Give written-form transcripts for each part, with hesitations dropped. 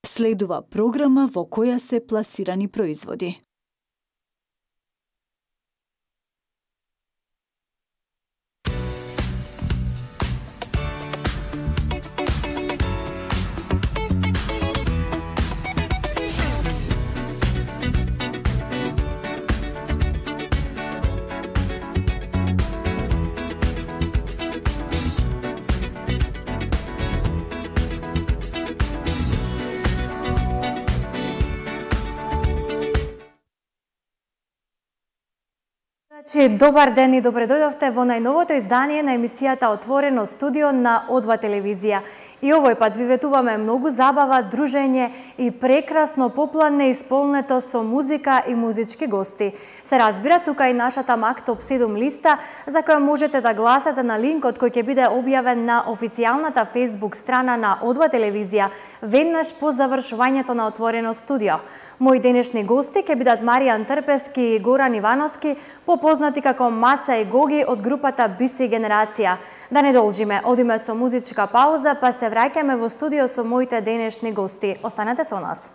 Следува програма во која се пласирани производи. Добар ден и добре дојдовте во најновото издание на емисијата Отворено студио на О2 телевизија. И овој пат ви ветуваме многу забава, дружење и прекрасно попладне исполнето со музика и музички гости. Се разбира, тука и нашата МАК Топ 7 листа, за која можете да гласате на линкот кој ќе биде објавен на официјалната Facebook страна на О2 телевизија, веднаш по завршувањето на Отворено студио. Мои денешни гости ќе бидат Маријан Трпески и Горан Ивановски, попознати како Маца и Гоги од групата BC Генерација. Да не должиме, одиме со музичка пауза, па се враќаме во студио со моите денешни гости. Останете со нас.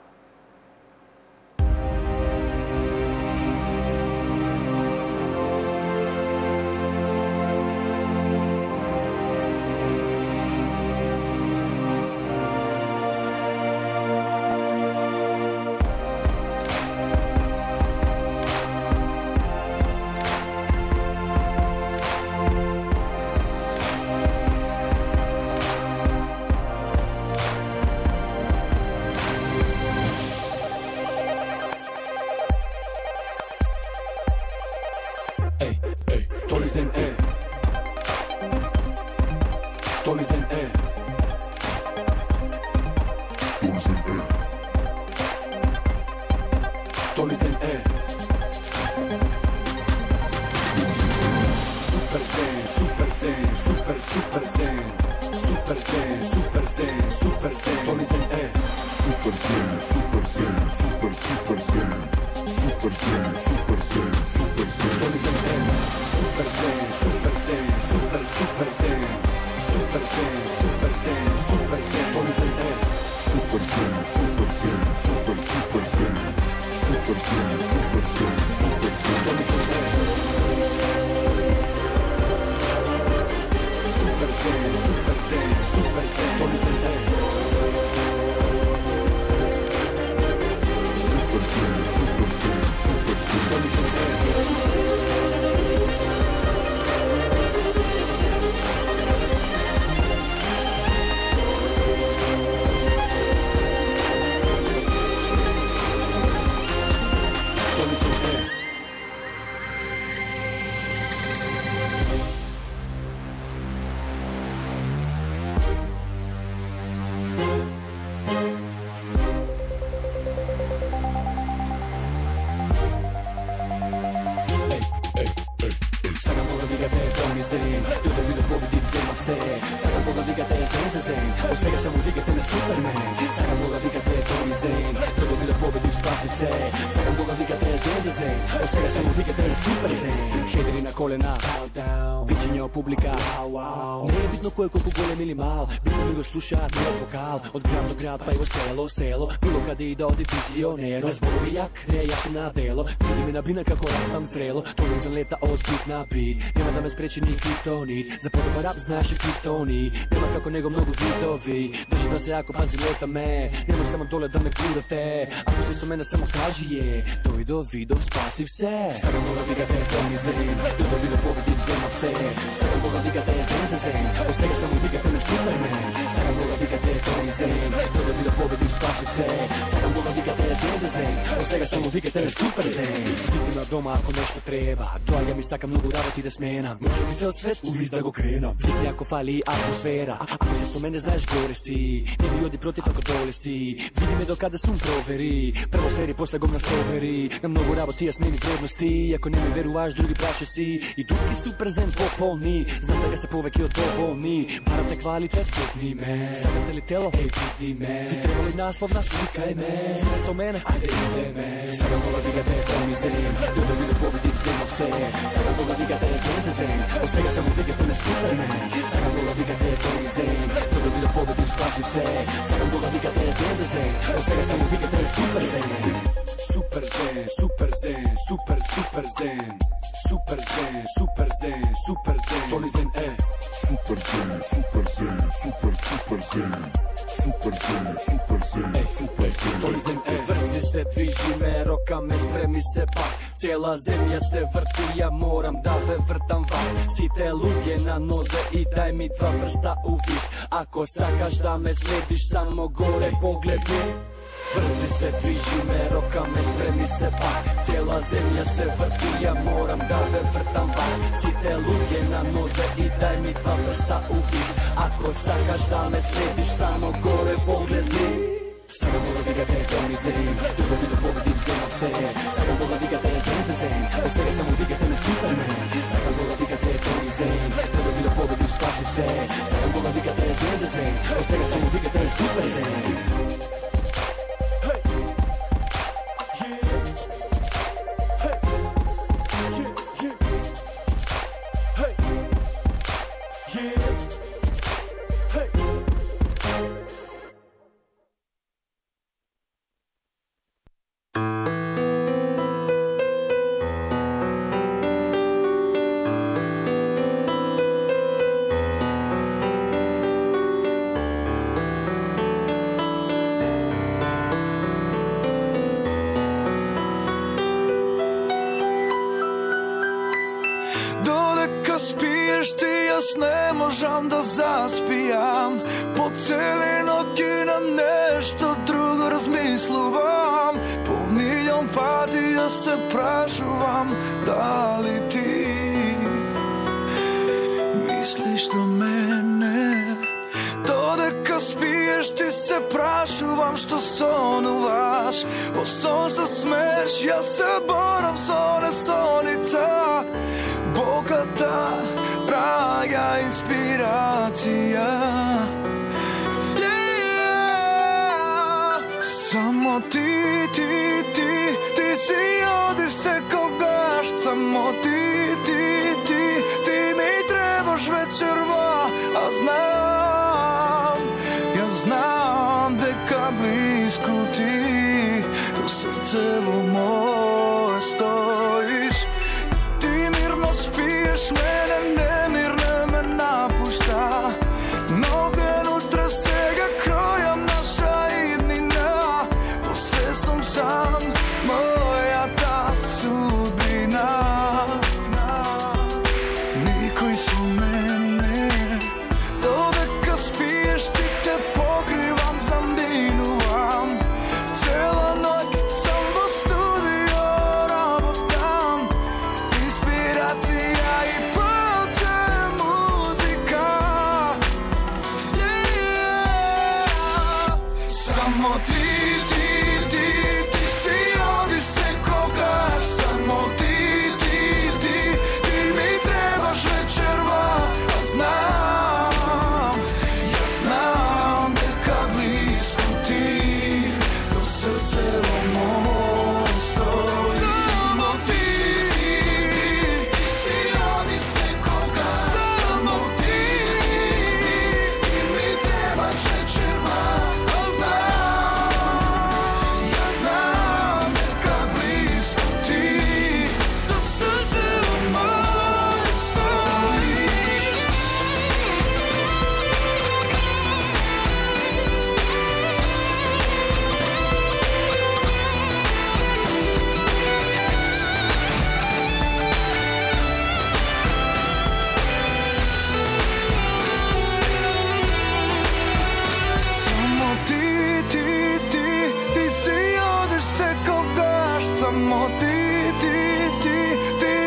Публика, не е битно кој колку голем или мал, битно ми го слушаат мојот вокал, од град до град па и во село, било каде и да оди визионер, разборови јак, не е јасно на дело, види ме на бина како растам зрело, тој излета од бит на бит, нема да ме спречи ни криптонит, за подобар рап знаеше криптони, нема како него многу видови, држи да се ако пази лета ме, нема само доле да ме курате, ако се со мене само кажи е, тој до видов спаси все, сега мора викате тој зрим, тој до видов победи взема все. Сега мога викате зен, од сега само викате на Супермен. Сега мога викате тој зен, тој да ви да победи спаси все. Сега мога викате зен, од сега само викате на Супермен. Види на дома ако нешто треба, доаѓа ми сака многу работи да сменам. Може би цел свет увиз да го кренам. Види ако фали атмосфера, ако си со мене знаеш горе си, не ви оди против ако доле си. Види ме докаде сум провери, прво сери после го насобери. На многу работи ја смени вредности, ако не ми веруваш други праше си. И дупки Суперзен пополни, знам дека се повеќе од доволни. Барате квалитет, видни ме. Сакате ли тело? Еј, видни ме. Ви треба ли naslovna slika je me. Sine so mene, ajde ide me. Sada vola digate to mi zen, dobro vidu pobedim zemlja vse. Sada vola digate zen, od svega samo digate me Superman. Sada vola digate to mi zen, dobro vidu pobedim spasi vse. Sada vola digate zen, od svega samo digate super zen. Super zen, super zen, super super zen. Super zen, super zen, super zen. Tony Zen, Super zen, super zen, super super zen. Super zen, super zen, super zen. Tony Zen, vrzi se, dviži me, roka me, spremi se pak. Cijela zemlja se vrti, ja moram da vrtam vas. Site luge na noze i daj mi dva prsta u vis. Ako sakaš da me slediš, samo gore pogledni. Vrzi se, dviži me, roka me, spremi se pak. Cijela zemlja se vrti, ja moram da vrtam vas. Site luge na noze i daj mi dva prsta u vis. Ako sakaš da me slediš, samo gore pogledni. Sada vola digate Tony Zen, dobro vidu pobedim zemlja vse. Sada vola digate zen, od svega samo digate me Superman. Sada vola digate Tony Zen, dobro vidu pobedim spasi vse. Sada vola digate zen, od svega samo digate me Super Zen. Ne možam da zaspijam, po cele noći na nešto drugo razmisluvam. Po milion pati ja se prašuvam, da li ti misliš do mene? Dodeka spiješ ti se prašuvam što sonuvaš. O son se smeš, ja se boram sone sonica. Bogata, praga inspiracija, samo ti si odiš se ko gašt. Samo ti mi trebaš večerva. A znam deka blisko ti do srcevo moje stojiš. Ti mirno spiješ, mene nemirne me napušta. Mnoge nutra sega kroja naša idnina. Poslije sam sam, moja ta sudbina. Niko iso mene, dodeka spiješ ti te pokrivam, zambinuvam. Cela noć sam do studio rabotam. Inspiracija i plače muzika. Samo ti si odi se kogaš. Samo ti mi trebaš večerva. A ja znam deka blisko ti do srcevo moje stoji. Samo ti si odi se kogaš. Samo ti mi trebaš večerva. A ja znam deka blisko ti do srcevo moje stoji. Samo ti si odiš se ko gašt. Samo ti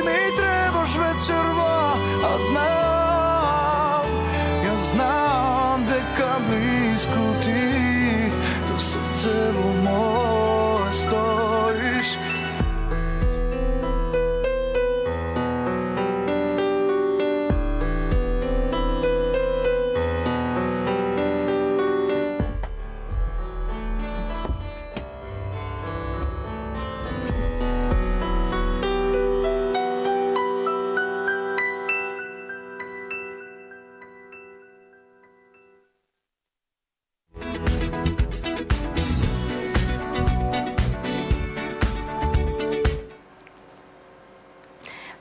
mi trebaš večerva. A ja znam deka blisko ti do srcevo moje stojiš.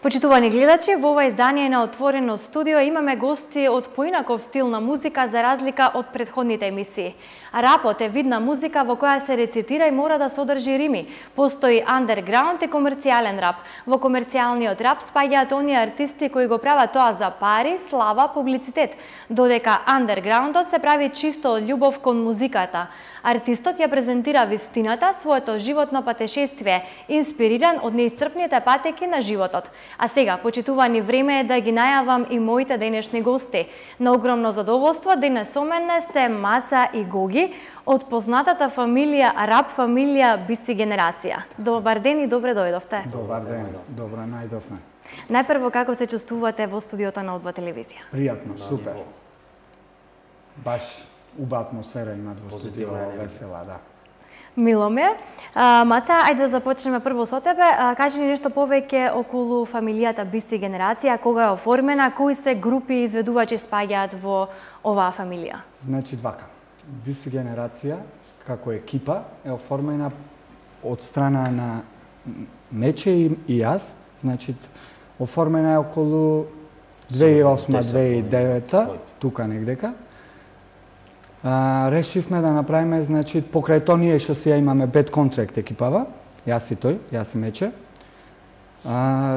Почитувани гледачи, во ова издание на Отворено студио имаме гости од поинаков стил на музика за разлика од претходните емисии. Рапот е видна музика во која се рецитира и мора да содржи рими. Постои андерграунд и комерцијален рап. Во комерцијалниот рап спаѓаат оние артисти кои го прават тоа за пари, слава, публицитет, додека андерграундот се прави чисто од љубов кон музиката. Артистот ја презентира вистината, своето животно патешествие, инспириран од неисцрпните патеки на животот. А сега, почитувани, време е да ги најавам и моите денешни гости. На огромно задоволство денес со мене се Маца и Гоги од познатата фамилија, рап фамилија Биси Генерација. Добар ден и добре дојдовте. Добар ден, добро најдовме. Најпрво, како се чувствувате во студиото на Одва телевизија? Пријатно, супер. Баш уба атмосфера имат во студио, весела, да. Мило ме. Маца, ајде да започнеме прво со тебе. Кажи ни нешто повеќе околу фамилијата Биси Генерација, кога е оформена, кои се групи изведувачи спаѓаат во оваа фамилија? Значи, вака. Биси Генерација, како екипа, е оформена од страна на Мече и јас. Значи, оформена е околу 2008-2009, тука негдека. Решивме да направиме, значи, покрај тоа ние што си ја имаме бед контракт екипава, јас и тој, јас и Мече,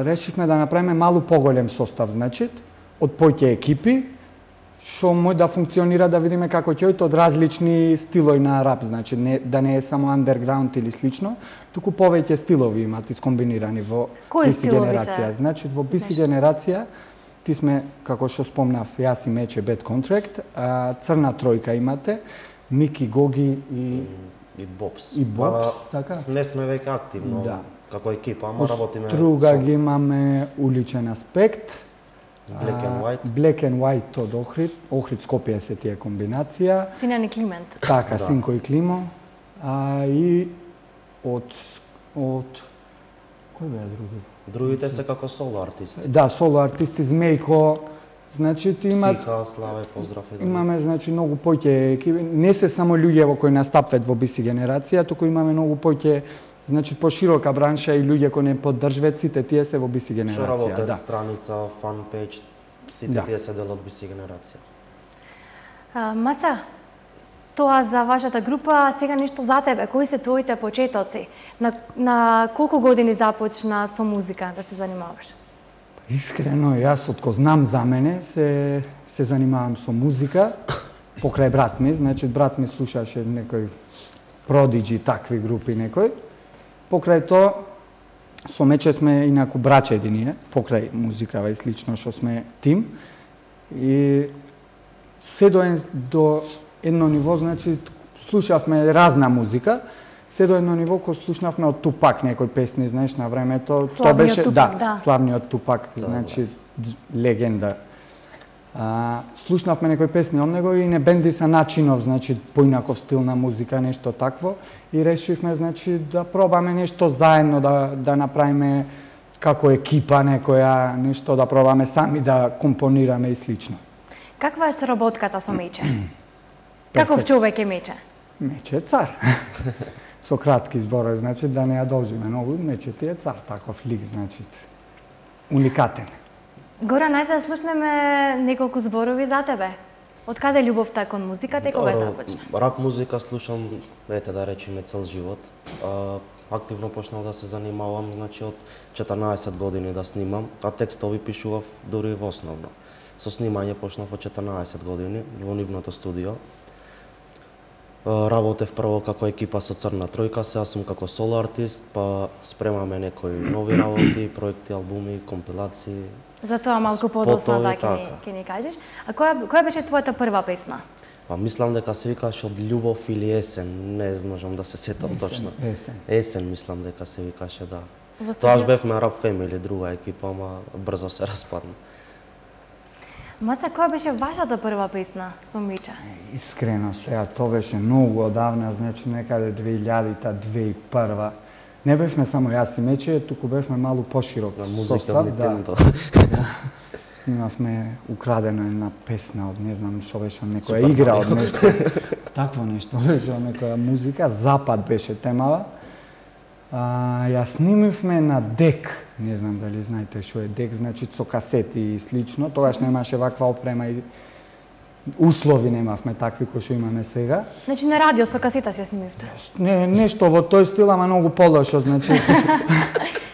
решивме да направиме малку поголем состав, значи, од поќе екипи, што може да функционира, да видиме како ќе од различни стилови на рап, значи, да не е само андерграунд или слично, туку повеќе стилови имат искомбинирани во Биси Генерација. Значи, во Биси Генерација, ти сме, како што спомнав, јас и Мече бед контракт, црна тројка имате, Мики, Гоги и Бобс. И Бобс, така? Не сме веќе активно, како екипа, ама работиме... Друга ги имаме Уличен аспект, Black and White. Black and White од Охрид, Охрид Скопје се тие комбинација. Синян и Климент. Така, Синко и Климо. И од кој беа други? Другите се како соло артисти. Да, соло артисти, Змејко, значи имат... Сика, Славе, поздрав и имаме, значи, многу поќе екипи. Не се само луѓе во кои настапват во Биси Генерација, туку имаме многу поќе, значи, поширока бранша и луѓе кои не поддржваат, сите тие се во Биси Генерација. Што работат, да. страница, фан пејдж, сите тие се дел од Биси Генерација. Маца, тоа за вашата група, сега нешто за тебе. Кои се твоите почетоци? На колку години започна со музика да се занимаваш? Искрено, јас од ко знам за мене се занимавам со музика покрај брат ми, значи брат ми слушаше некој Продиджи, такви групи некој. Покрај тоа со Мече сме инаку брачеди ние, покрај музикава и слично што сме тим. И се до едно ниво, значи, слушавме разна музика, се до едно ниво кој слушнавме од Тупак некои песни, знаеш, на времето. Тоа беше, Тупак, да, славниот Тупак, значи, легенда. Слушнавме некои песни од него и не бенди са начинов, значи, поинаков стил на музика, нешто такво. И решивме, значи, да пробаме нешто заедно, да направиме како екипа некоја, нешто да пробаме сами да компонираме и слично. Каква е соработката со Мече? Каков човек е Мече? Мече е цар. Со кратки зборови, значи, да не ја должиме многу, Мече ти е цар, таков лик, значи, уникатен. Гора, најде да слушнеме неколку зборови за тебе. Од каде љубовта кон музиката и кога започна? Рап музика слушам, ете да речеме, цел живот. Активно почнав да се занимавам, значи, од 14 години да снимам, а текстови пишував дури во основно. Со снимање почнав од 14 години во нивното студио. Работев прво како екипа со Црна тројка, сега сум како соло артист, па спремаме некои нови работи, проекти, албуми, компилации. Затоа малку подоцна да ќе ни кажеш. А која беше твојата прва песна? Па мислам дека се викаше од љубов или есен, не можам да се сетам точно. Есен мислам дека се викаше, да. Тоаш бевме Rap Family, друга екипа, ама брзо се распадна. Маца, која беше вашата прва песна со Мече? Искрено, сега, тоа беше многу одавна, значи некаде 2000-та, 2001-та. Не бевме само јас и Мече, туку бевме малку поширок состав. Имавме украдена една песна од, не знам што беше, некоја игра од нешто. Такво нешто беше, од некоја музика. Запад беше темава. Ја снимивме на дек, не знам дали знаете што е дек, значи со касети и слично, тогаш немаше ваква опрема и услови немавме такви кои што имаме сега. Значи на радио со касета се снимивте? Не, нешто во тој стил, ама многу полошо, значи.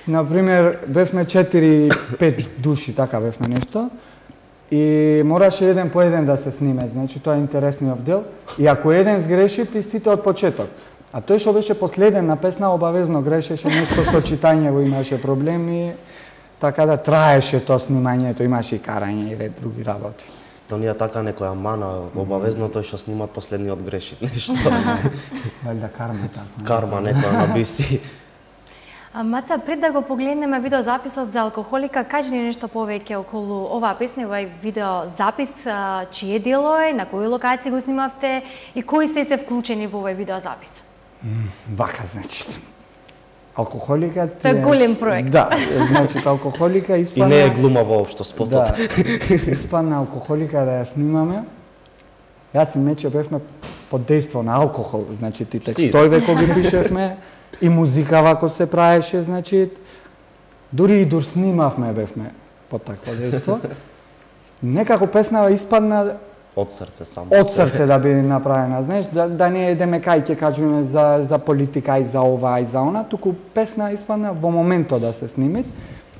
Например, бевме 4-5 души, така бевме нешто. И мораше еден по еден да се сниме, значи тоа е интересниот дел. И ако еден сгреши, ти сите од почеток. А тој што беше последен на песна обавезно грешеше, нешто со читањето имаше проблеми, така да траеше тоа снимањето, имаше и карање и ред други работи. То ние така некоја мана, обавезно тој што снима последниот греши нешто. Валјда карма така. Карма некоја на биси. Маца, пред да го погледнеме видеозаписот за Алкохолика, кажи ни нешто повеќе околу оваа песна и овај видеозапис, чие дело е, на кои локации го снимавте и кои се вклучени во овој видеозапис? Вака, значи, Алкохолика... Тоа е голем проект. Да, значи, Алкохолика испадна... И не е глума воопшто спотот. Да, испадна Алкохолика да ја снимаме. Јас и Мече бевме под дејство на алкохол, значи, ти текстојве кои ги пишевме, и музика вако се праеше, значи, дури и дур снимавме бевме под такво дејство. Некако песнава испадна од срце само. Од срце да би направена, знаеш, да не едеме кај ќе кажеме за политика и за ова и за она, туку песна испадна во моментот да се снимит.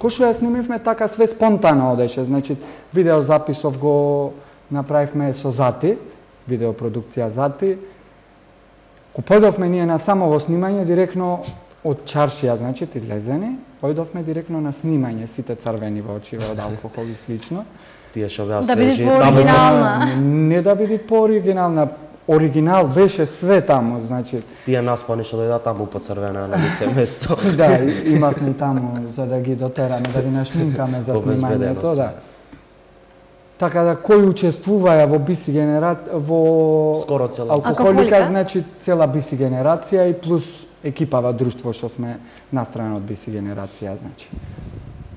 Кој што ја снимивме така све спонтано одеше, значи видеозаписов го направивме со Зати, видеопродукција Зати. Ко појдовме ние на самово снимање директно од чаршија, значи излезени, појдовме директно на снимање, сите црвени во очиве од алкохол и слично. Тие што беа да биде свежи, пооригинална. Не да биде пооригинална, оригинал беше све таму, значи. Тие наспани што дојдат таму по црвена на лице место. Да, имавме таму за да ги дотераме, да ги нашминкаме за снимањето, да. Така да кои учествуваја во биси во скоро цела Алкохолика, значи цела биси генерација и плюс екипава друштво што сме настрана од биси генерација, значи.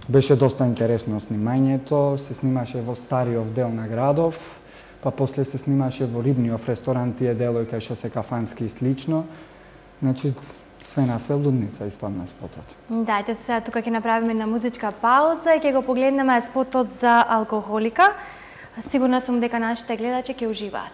Беше доста интересно снимањето, се снимаше во стариот дел на градов, па после се снимаше во рибниот ресторант, тие делои кај што се кафански и слично. Значи, све на све лудница испадна спотот. Дајте сега тука ќе направиме на музичка пауза и ќе го погледнеме спотот за Алкохолика. Сигурна сум дека нашите гледачи ќе уживаат.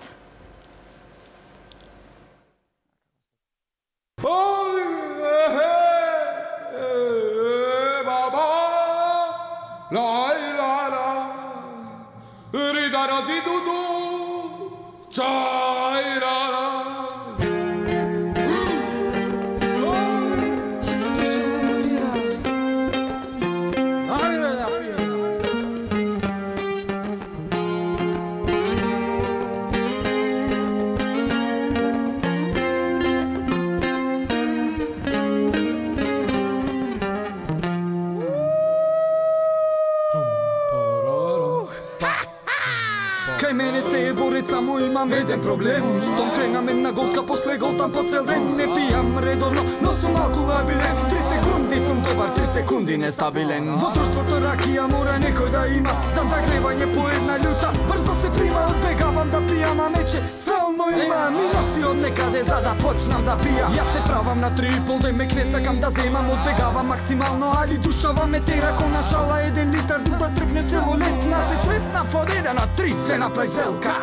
Само имам еден проблем, штом кренам една голка после голтам по цел ден. Не пијам редовно, но сум алколабилен. 3 секунди сум добар, 3 секунди нестабилен. Во друштвото ракија мора некој да има, за загревање по една љута. Брзо се прима, одбегавам да пијам, а Мече стално има. Ми носи од некаде за да почнам да пијам. Јас се правам на 3,5 ден, мек не сакам да земам, одбегавам максимално, али душава ме тера ко на шала 1 литар да тргне целолетна. Се светна од 1 на 3 се направи зелка.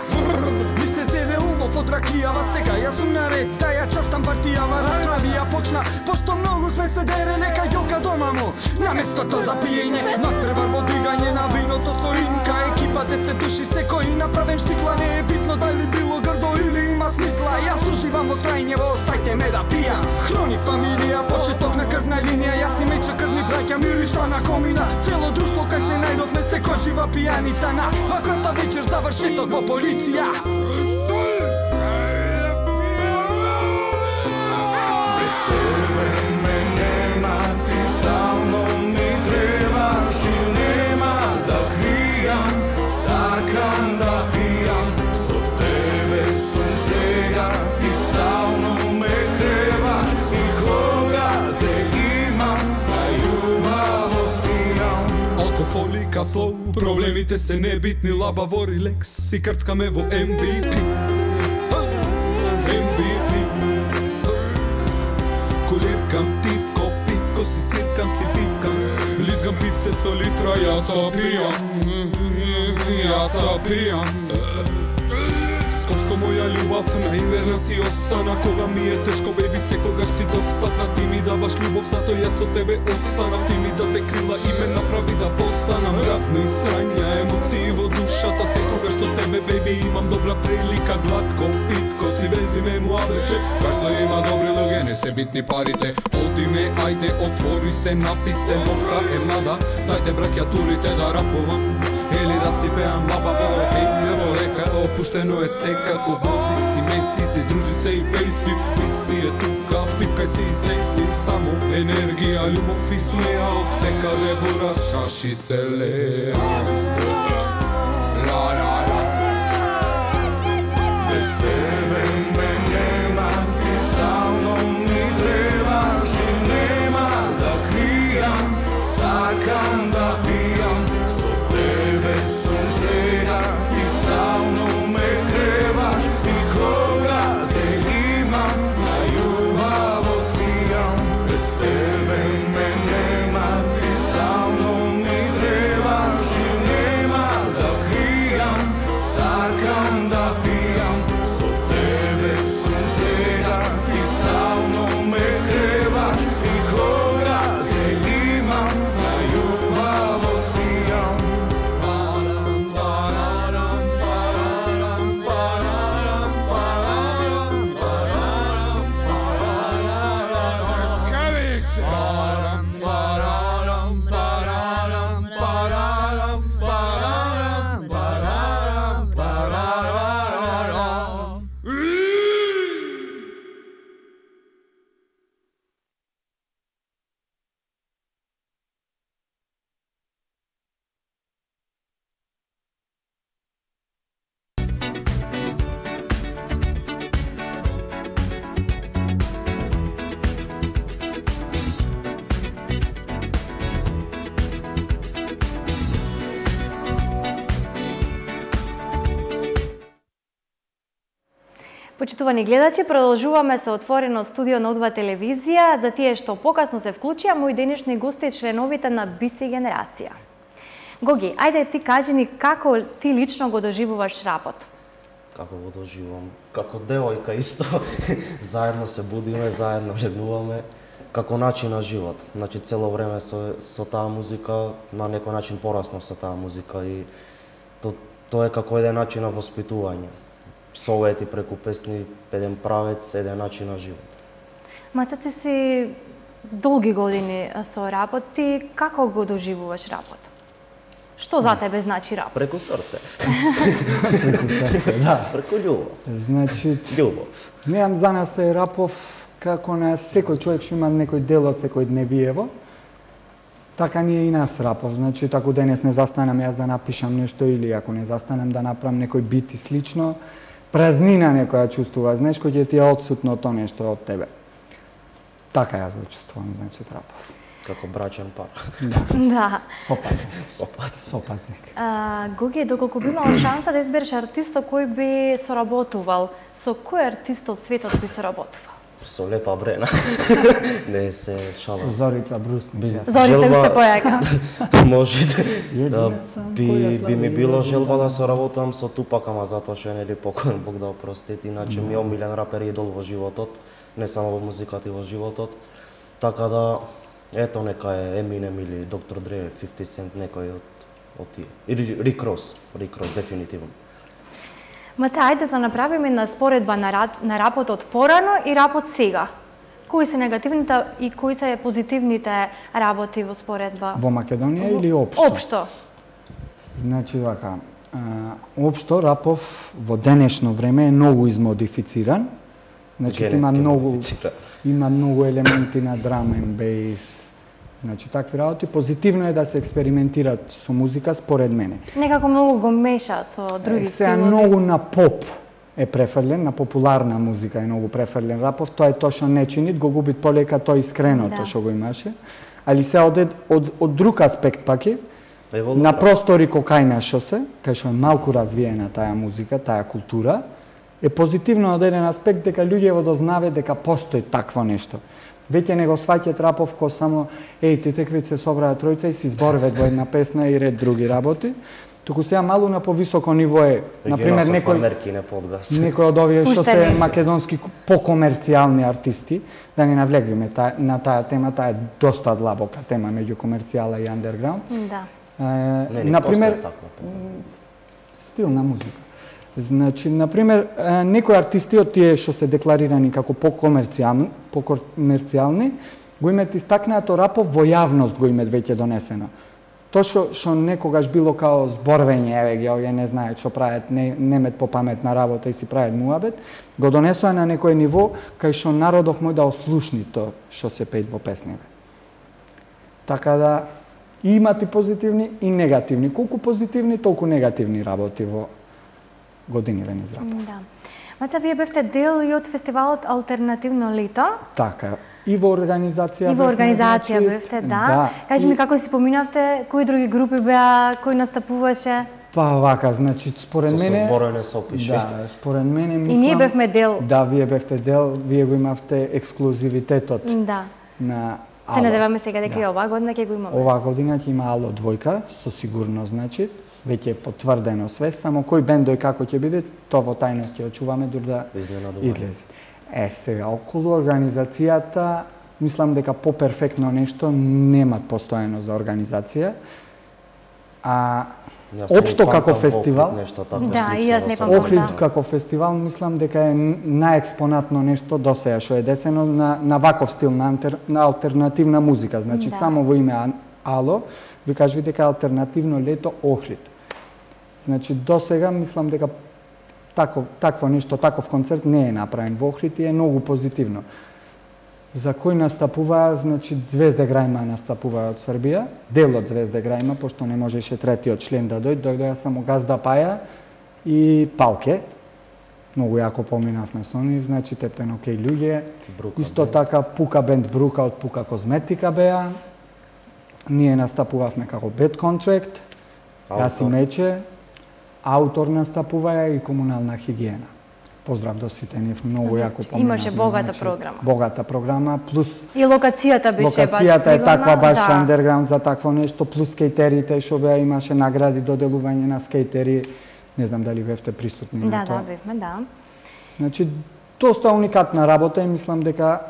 Ми се зеде умов од ракијава, сега јас сум наред, да ја частам партијава. Расправија почна, пошто многу сме се дереле кај ѓока дома му. На местото за пиење, натребар во дигање на виното со инка. Екипа 10 души, секој направен штикла, не е битно дали било грдо или има смисла. Јас уживам во страјњево, остајте ме да пијам. Хроник фамилија, почеток на крвна линија, јас и Мече крвни браќа, мириса на комина. Цело друштво кај се најдовме, секој жива пијаница. На ваквата вечер завршеток во полиција. Слоу, проблемите се небитни, лабаво релекс, си крцкаме во MVP. MVP. Колиркам ти в коп со литра, јас опијам. Скопско моја љубов, најверна си остана. Кога ми е тешко, беби, секогаш си достапна. Ти ми даваш љубов, затоа јас со тебе останав. Ти ми даде крила и ме направи да постанам. Разни срања, емоции во душата. Секогаш со тебе, беби, имам добра прилика. Гладко, питко, си вези ме муабече. Кашто има добри луѓе, не се битни парите. Оди ме, ајде, отвори се, написе новка е млада. Дајте бракјатурите да рапувам. Или да си пеам баба, во река, опуштено е секако. Вози си, мети си, дружи се и пеј си. Миси е тука, пипкај си и сеј си. Само енергија, љубов и смеа. Од секаде бураш, шаши се леа. Без тебе ме нема, ти стално ми требаш и нема да кријам. Сакам да пијам, со тебе сум сега, ти стално ме требаш и кога те имам, на љубаво свијам. Без тебе ме нема, ти стално ми требаш и нема да кријам. Сакам да пијам, со тебе сум сега, ти стално ме требаш и кога те имам, на љубаво свијам. Почитувани гледачи, продолжуваме со отворено студио на Одва телевизија. За тие што покасно се вклучија, мои денешни гости членовите на BC генерација. Гоги, ајде ти кажи ни како ти лично го доживуваш рапот? Како го доживувам? Како девојка исто. Заедно се будиме, заедно легнуваме. Како начин на живот. Значи цело време со таа музика, на некој начин пораснав со таа музика и тоа е како еден начин на воспитување. Совети преку песни, еден правец, еден начин на живот. Маца, ти си долги години со рапот, ти како го доживуваш рапот? Што за тебе значи рап? Преку срце. Преку срце, да. Преку љубов. Значи, Љубов. Неам за нас е рапов како на секој човек што има некој дел од секој дневиево. Така ни е и нас рапов. Значи, ако денес не застанам јас да напишам нешто или ако не застанам да направам некој бит и слично, празнина некоја чувствува, знаеш, кој ќе ти е отсутно тоа нешто од тебе. Така јас го чувствувам, значи, рапов. Како брачен пар. Да. Сопатник. Гоги, доколку би имал шанса да избереш артист со кој би соработувал, со кој артист од светот би соработувал? Со Лепа Брена. Не се шалам. Со Зорица Брусник. Зорица уште појака. Може да би ми било желба да соработувам со Тупак, ама затоа што е нели покоен, Бог да опрости. Иначе ми е омилен рапер и идол во животот, не само во музиката и во животот. Така да ето нека е Eminem или Dr. Dre, 50 Cent, некој од тие. Или Rick Ross дефинитивно. Маца, ајде да направиме на споредба на рапот од порано и рапот сега. Кои се негативните и кои се позитивните работи во споредба? Во Македонија или општо? Општо. Значи вака, општо рапов во денешно време е многу измодифициран. Значи има многу елементи на драм and бейс. Значи такви работи, позитивно е да се експериментират со музика според мене. Некако многу го мешаат со други стилови. Сега многу на поп е префрлен, на популарна музика е многу префрлен рапов, тоа е тоа што не чинит, го губит полека тоа искреното што го имаше. Али се од друг аспект пак е, на простори кокајна шосе, кај што е малку развиена таа музика, таа култура, е позитивно од еден аспект дека луѓе дознаве дека постои такво нешто. Веќе не го сваќаат рапов ко само ти теквит се собраа тројца и си зборват во една песна и ред други работи. Туку сега малку на повисоко ниво е, например, некој од овие што се македонски покомерцијални артисти, да не навлегваме на таа тема, таа е доста длабока тема меѓу комерцијала и андерграунд. Да. Например, стил на музика. Значи, например, некои артисти од тие што се декларирани како покомерцијални, го имаат истакнато рапов во јавност го имаат веќе донесено. Тоа што некогаш било као зборвење, еве ги, овие не знаат што прават, немет по паметна работа и си прават муабет, го донесоа на некој ниво кај што народов мој да ослушни тоа што се пеат во песниве. Така да, имат и позитивни и негативни. Колку позитивни, толку негативни работи во годиниве низ рапов. Да. Маца, вие бевте дел и од фестивалот Алтернативно лето. Така, и во организација. И во организација бевте, да. Кажи ми како си поминавте, кои други групи беа, кој настапуваше? Па вака, значи, според мене... Со збороње се опиши. Да, според мене мислам... И ние бевме дел. Да, вие бевте дел, вие го имавте ексклузивитетот на Ало. Се надеваме сега дека и оваа година ќе го имаме. Оваа година ќе има Ало двојка, со сигурно, значи. Веќе е потврдено све, само кој бендој како ќе биде, тоа во тајност ќе очуваме дур да излезе. Сега, околу организацијата, мислам дека по-перфектно нешто немат постојано за организација. Општо како фестивал, Охрид како фестивал, мислам дека е наекспонатно нешто досеја што е десено на ваков стил, на алтернативна музика. Значи, само во име Ало, ви кажи дека Алтернативно лето Охрид. Значи, досега мислам дека такво нешто, таков концерт не е направен во Охрид и е многу позитивно. За кој настапува, значи Звезде Грајма настапува од Србија, дел од Звезде Грајма, пошто не можеше третиот член да дојдоа само Газда Паја и Палке. Многу јако поминавме со нив, значи Тептен окей луѓе. Исто така Пука бенд Брука од Пука Козметика беа. Ние настапувавме како Bad Contract, Јас и Мече, Аутор настапува и Комунална хигиена. Поздрав до сите нив, многу јако поминавме. Имаше богата програма. Богата програма, плюс... И локацијата беше баш... Локацијата е таква баш андерграунд за такво нешто, плюс скејтерите, што беа имаше награди, доделување на скејтери. Не знам дали бевте присутни на тоа. Да, бевме, да. Значи, доста уникатна работа и мислам дека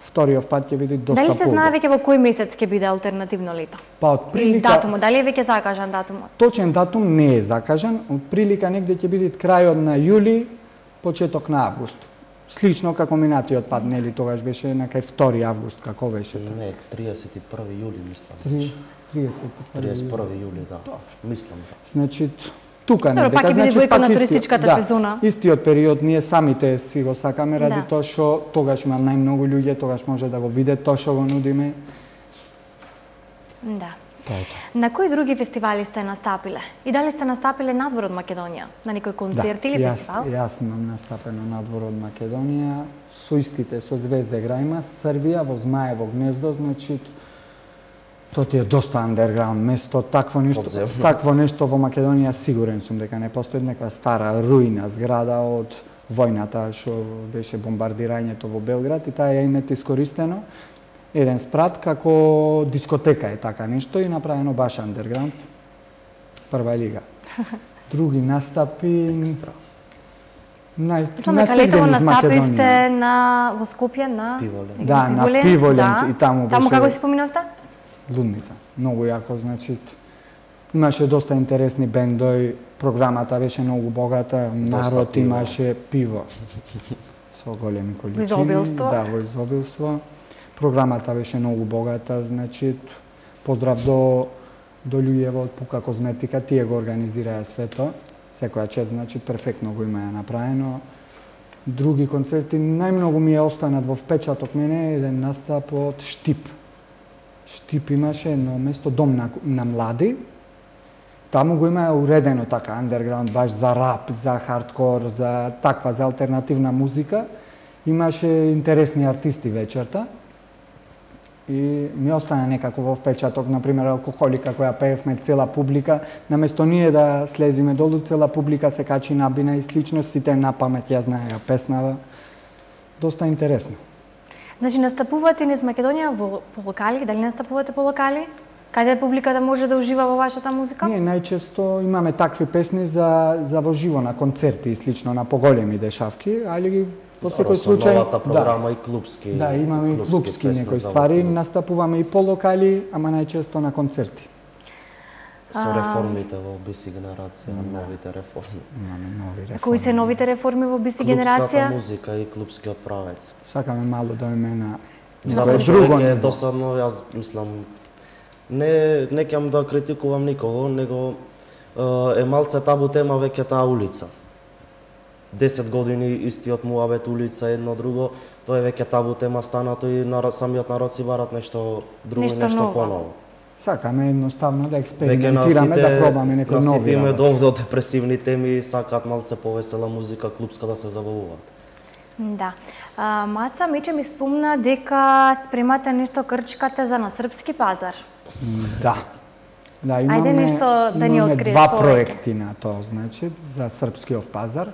вториот пат ќе биде доста Дали се знае веќе во кој месец ќе биде Алтернативно лето? Па од прилика... Датумот, дали е веќе закажан датумот? Точен датум не е закажан, од прилика негде ќе биде крајот на јули, почеток на август. Слично како минатиот пат, нели тогаш беше на кај 2 август, како беше? Не, 31 јули мислам. 31 јули, да. Мислам. Значи, тука не дека, значи пак на туристичката сезона. Истиот период ние самите си го сакаме ради тоа што тогаш има најмногу луѓе, тогаш може да го видат тоа што го нудиме. Да. На кои други фестивали сте настапиле? И дали сте настапиле надвор од Македонија? На некој концерт или фестивал? Јас имам настапено надвор од Македонија, со истите, со Звезде Грајма, Србија, во Змаево гнездо, значи тоа ти е доста андерграунд место, такво нешто во Македонија сигурен сум дека не постои, некоја стара руина зграда од војната што беше бомбардирањето во Белград и таа ја имате искористено еден спрат како дискотека е така нешто и направено баш андерграунд. Прва лига. Други настапи Летово настапивте во Скопје на Пиволент. Да, на Пиволент и таму беше. Таму како си споминавте? Лудница. Многу јако, значи имаше доста интересни бендои, програмата беше многу богата, народ имаше пиво со големи количини. Изобилство. Да, во изобилство. Програмата беше многу богата, значи поздрав до луѓето од Пука Козметика, тие го организираа свето. Секоја чест, значи перфектно го имаја направено. Други концерти најмногу ми е останат во впечаток мене еден настап од Штип. Штип имаше едно место, дом на млади. Таму го имаа уредено така андерграунд, баш за рап, за хардкор, за таква, за алтернативна музика. Имаше интересни артисти вечерта. И ми остана некако во впечаток, например, Алкохолика која пеевме цела публика, наместо ние да слезиме долу, цела публика се качи набина и слично, сите на памет ја знаеа песнава. Доста интересно. Значи, настапувате низ Македонија по локали, дали настапувате по локали? Каде публиката може да ужива во вашата музика? Ние најчесто имаме такви песни за во живо на концерти и слично на поголеми дешавки, али во секој случај новата програма и клубски. Да, имаме и клубски некои ствари, настапуваме и по локали, ама најчесто на концерти. Со реформите во BC генерација, новите реформи. Имаме нови реформи. Кои се новите реформи во BC генерација? Клубската музика и клубскиот правец. Сакаме мало да име на Затоа што е досадно, јас мислам, не ќе да критикувам никого, него е малце табу тема веќе таа улица. 10 години истиот муабет улица едно друго, тоа е веќе табу тема станато и самиот народ си барат нешто друго, нешто поново. Сакаме едноставно да експериментираме, да пробаме некои нови работи. На сите име довде од депресивни теми сакаат малце повесела музика, клубска да се забавуваат. Да. Маца Мече ми спомна дека спремате нешто крчкате за на српски пазар. Да. Да, имаме нешто да ни откриеш два повеќе. проекти на тоа, значи, за српскиот пазар.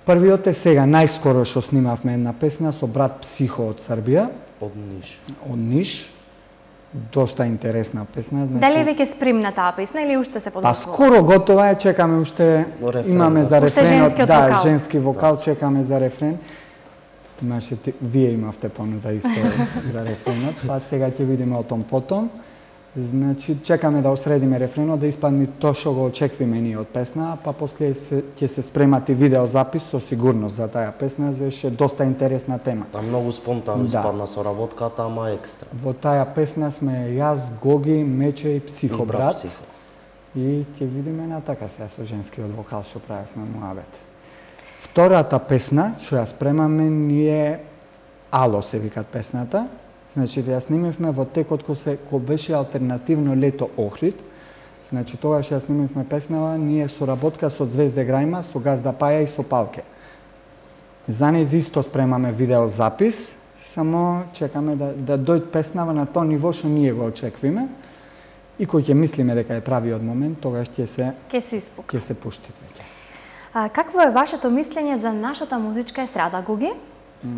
Првиот е сега, најскоро што снимавме една песна со брат Психо од Србија. Од Ниш. Од Ниш. Доста интересна песна. Значи... Дали е веќе спремна таа песна или уште се подготвува? Па скоро готова е, чекаме уште, имаме за рефренот, да, женски вокал, чекаме за рефрен. Имаше, вие имавте понуда исто за рефренот, па сега ќе видиме о том потом. Значи, чекаме да осредиме рефренот, да испадне тоа што го очекваме ние од песна, па после ќе се спремат и видеозапис со сигурност за таа песна, зашто доста интересна тема. Та многу спонтано испадна соработката, ама екстра. Во таа песна сме јас, Гоги, Мече и Психо брат. И ќе видиме на така сега со женскиот вокал што правевме муабет. Втората песна што ја спремаме ние Ало се викат песната. Значи, ја снимивме во текот кој беше алтернативно лето Охрид. Значи, тогаш ја снимивме песнава, ние соработка со Звезде Грајма, со Газда Паја и со Палке. За нејз исто спремаме видеозапис, само чекаме да дојде песнава на тоа ниво што ние го очеквиме. И кој ќе мислиме дека е правиот момент, тогаш ќе се пушти веќе. Какво е вашето мислење за нашата музичка естрада, Гоги?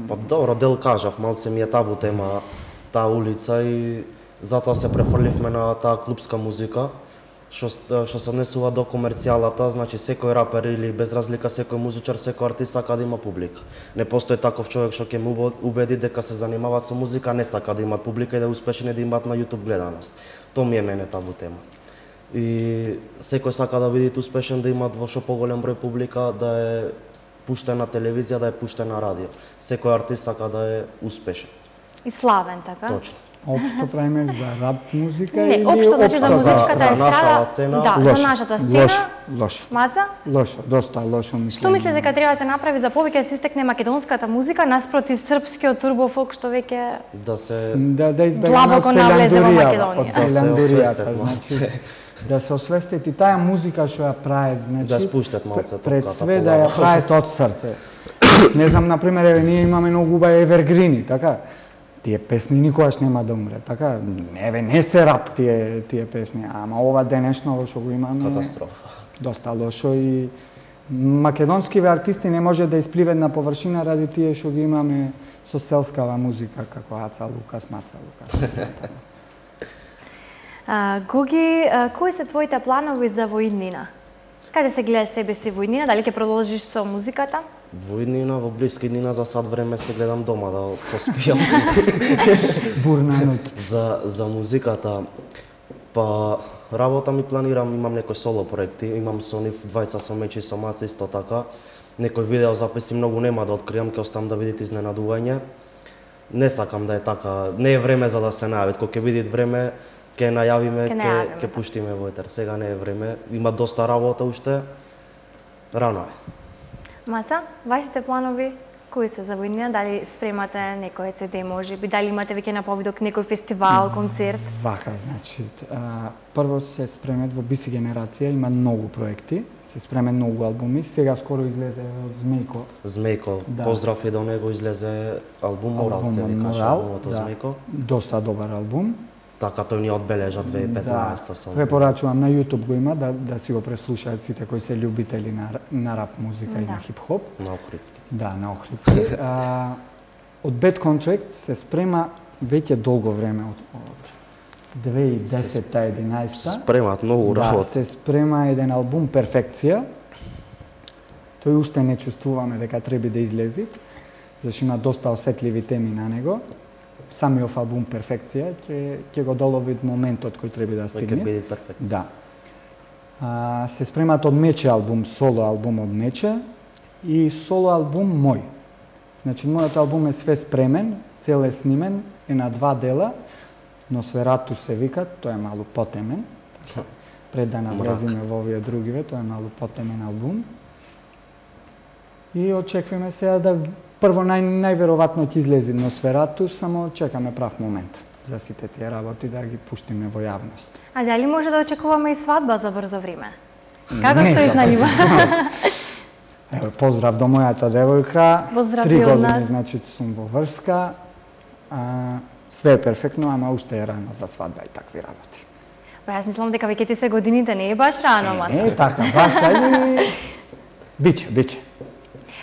Па добро, дел кажав, малце ми е табу тема таа улица и затоа се префрливме на таа клубска музика, што се однесува до комерцијалата, значи секој рапер или без разлика секој музичар, секој артист сака да има публика. Не постои таков човек што ќе му убеди дека се занимава со музика, не сака да имат публика и да е успешен и да имаат на YouTube гледаност. Тоа ми е мене табу тема. И секој сака да биде успешен, да имат во што поголем број публика, да е пуштен на телевизија, да е пуштен на радио. Секој артист сака да е успешен. И славен, така? Точно. Општо правиме за рап музика или општо, значи за музичката естрада? За нашата сцена? Да, за нашата сцена. Лошо. Маца? Лошо, доста лошо мислење. Што мислите дека треба да се направи за повеќе да се истекне македонската музика наспроти српскиот турбофолк што веќе да избегнеме селандуријата, значи да се освестет и таа музика што ја прават, значи да спуштат малце пред све да ја прават од срце. Не знам, например, еве ние имаме многу убави евергрини, така? Тие песни никогаш нема да умре, така? Еве не се рап тие песни, ама ова денешно што го имаме катастрофа. Доста лошо и македонскиве артисти не може да испливат на површина ради тие што ги имаме со селскава музика како Аца Лукас, Маца Лукас. Гоги, кои се твоите планови за во иднина? Каде се гледаш себе си во иднина? Дали ќе продолжиш со музиката? Во иднина, во блиска иднина, за сад време се гледам дома да поспијам. Бурна ноќ. За музиката, па работа ми планирам, имам некои соло проекти, имам со нив двајца, со Мечи и со Маца исто така. Некои видеозаписи многу нема да откријам, ќе оставам да видите изненадување. Не сакам да е така, не е време за да се најавит, кога ќе биде време ќе најавиме, ќе пуштиме во етер. Сега не е време, има доста работа уште. Рано е. Маца, вашите планови кои се за војднина? Дали спремате некој CD можеби? Дали имате веќе на повидок некој фестивал, концерт? Вака, значи, прво се спремет во BC генерација, има многу проекти, се спремет многу албуми. Сега скоро излезе од Змејко. Змејко, да. Поздрав и до него, излезе албум Морал, се викаше албумот од Змејко. Доста добар албум. Така тој ни одбележа 2015 со. Препорачувам, на YouTube го има да си го преслушаат сите кои се љубители на рап музика и на хип-хоп. На охридски. Да, на охридски. од Bad Contract се спрема веќе долго време, од 2010-11. Се спремаат многу работи. Да, се спрема еден албум Перфекција. Тој уште не чувствуваме дека треба да излези, зашто има доста осетливи теми на него. Самиот албум Перфекција ќе го долови моментот кој треба да стигне. Ќе биде перфекција. Да. Се спремаат од Мече албум, соло албум од Мече и соло албум мој. Значи, мојот албум е све спремен, цел е снимен, е на 2 дела, но Сверату се вика, тој е малку потемен. Пред да навлезиме во овие другиве, тој е малку потемен албум. И очекуваме сега да прво најверојатно ќе излезе Носферату, само чекаме прав момент за сите тие работи да ги пуштиме во јавност. А дали може да очекуваме и свадба за брзо време? Како стоиш на ниво? Ево, поздрав до мојата девојка. Поздрав 3 и од години, нас. значи, сум во врска. Све е перфектно, ама уште е рано за свадба и такви работи. Па јас мислам дека веќе ти се годините, не е баш рано, ма. Не, така, баш, ајде. Биче.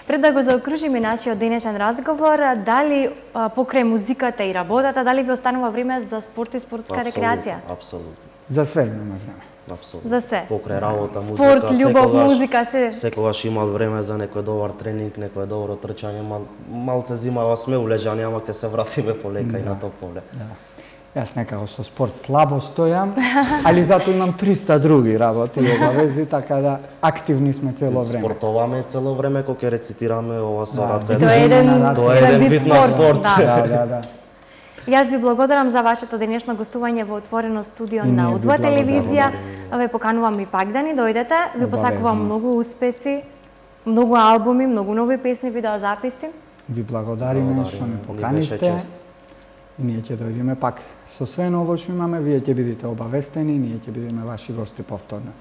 Пред да го заокружиме нашиот денешен разговор, дали покрај музиката и работата, дали ви останува време за спорт и спортска рекреација? Апсолутно. За све имаме време. Апсолутно. За се. Покрај работа, музика, Спорт, љубов, музика, се. Секогаш имаат време за некој добар тренинг, некој добро трчање, малце зимава сме улежани, ама ќе се вратиме полека и на тоа поле. Да. Јас некако со спорт слабо стојам, али затоа имам 300 други работи и обавези, така да активни сме цело време. Спортоваме цело време, кога ќе рецитираме ова со рацете. Тоа е еден вид на спорт. Да. Јас ви благодарам за вашето денешно гостување во отворено студио И на ние ви Удва телевизија. благодарам. Ве поканувам и пак да ни дојдете. Ви посакувам Обавезно. многу успеси, многу албуми, многу нови песни, видеозаписи. Ви благодариме што ме поканивте. И ние ќе дојдеме пак. Со све ново што имаме, вие ќе бидете обавестени, ние ќе бидеме ваши гости повторно.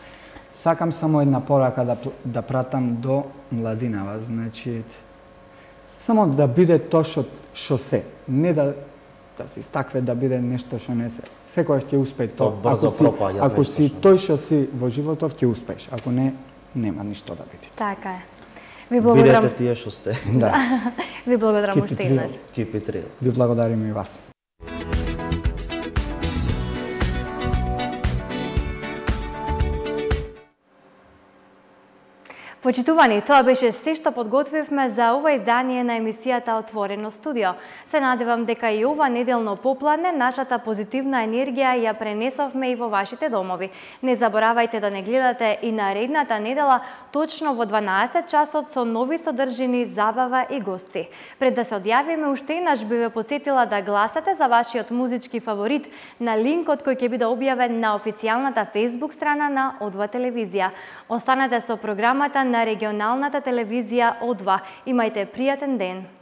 Сакам само една порака да пратам до младинава, значи само да биде тоа што се, не да се истакве да биде нешто што не се. Секојаш ќе успее тоа. Ако си тој што си во животов, ќе успееш. Ако не, нема ништо да биде. Така е. Ви благодарам. Бидете тие што сте. Да. Ви благодарам уште еднаш. Keep it real. Ви благодариме и вас. Почитувани, тоа беше се што подготвивме за ова издание на емисијата Отворено студио. Се надевам дека и ова неделно попладне нашата позитивна енергија ја пренесовме и во вашите домови. Не заборавајте да не гледате и наредната недела точно во 12 часот со нови содржини, забава и гости. Пред да се одјавиме, уште еднаш би ве потсетила да гласате за вашиот музички фаворит на линкот кој ќе биде објавен на официјалната Facebook страна на Одва телевизија. Останете со програмата на регионалната телевизија Одва. Имајте пријатен ден.